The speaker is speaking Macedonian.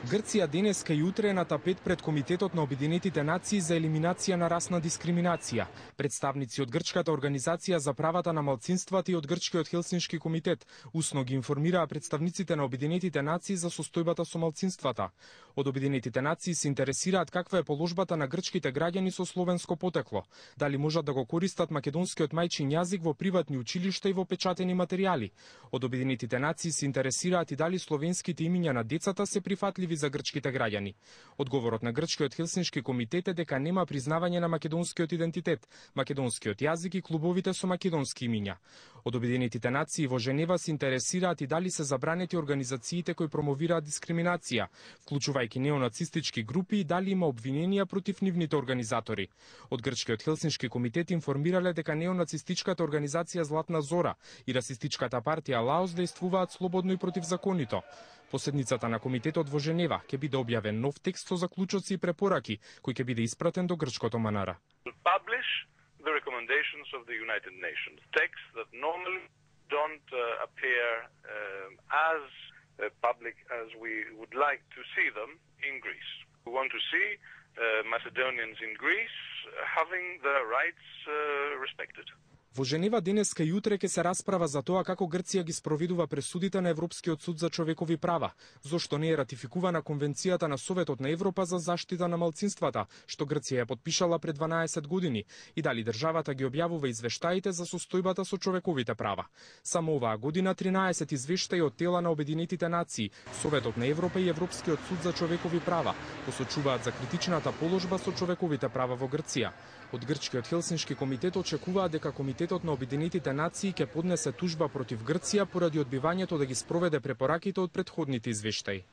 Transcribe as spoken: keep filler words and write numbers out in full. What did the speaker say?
Грција денеска и утре е на тапет пред Комитетот на Обединетите нации за елиминација на расна дискриминација. Представници од Грчката организација за правата на малцинствата и од Грчкиот Хелсиншки комитет усно ги информираа представниците на Обединетите нации за состојбата со малцинствата. Од Обединетите нации се интересираат каква е положбата на грчките граѓани со словенско потекло, дали можат да го користат македонскиот мајчин јазик во приватни училишта и во печатени материјали. Од Обединетите нации се интересираат и дали словенските имиња на децата се прифатливи за грчките граѓани. Одговорот на Грчкиот Хелсиншки комитет е дека нема признавање на македонскиот идентитет, македонскиот јазик и клубовите со македонски имиња. Од Обединетите нации во Женева се интересираат и дали се забранети организациите кои промовираат дискриминација, вклучувајќи неонацистички групи, и дали има обвиненија против нивните организатори. Од Грчкиот Хелсиншки комитет информирале дека неонацистичката организација Златна Зора и расистичката партија Лаос действуваат слободно и противзаконито. По седницата на комитетот во Женева ќе биде објавен нов текст со заклучоци и препораки, кој ќе биде испратен до грчкото манара. The recommendations of the United Nations, texts that normally don't uh, appear uh, as uh, public as we would like to see them in Greece. We want to see uh, Macedonians in Greece having their rights uh, respected. Во Женева денеска и утре ќе се расправа за тоа како Грција ги спроведува пресудите на Европскиот суд за човекови права, зошто не е ратификувана Конвенцијата на Советот на Европа за заштита на малцинствата, што Грција ја потпишала пред дванаесет години, и дали државата ги објавува извештаите за состојбата со човековите права. Само оваа година тринаесет извештаи од тела на Обединетите нации, Советот на Европа и Европскиот суд за човекови права посочуваат за критичната положба со човековите права во Грција. Од Грчкиот Хелсиншки комитет очекуваат дека Комитетот на Обединетите нации ќе поднесе тужба против Грција поради одбивањето да ги спроведе препораките од претходните извештаи.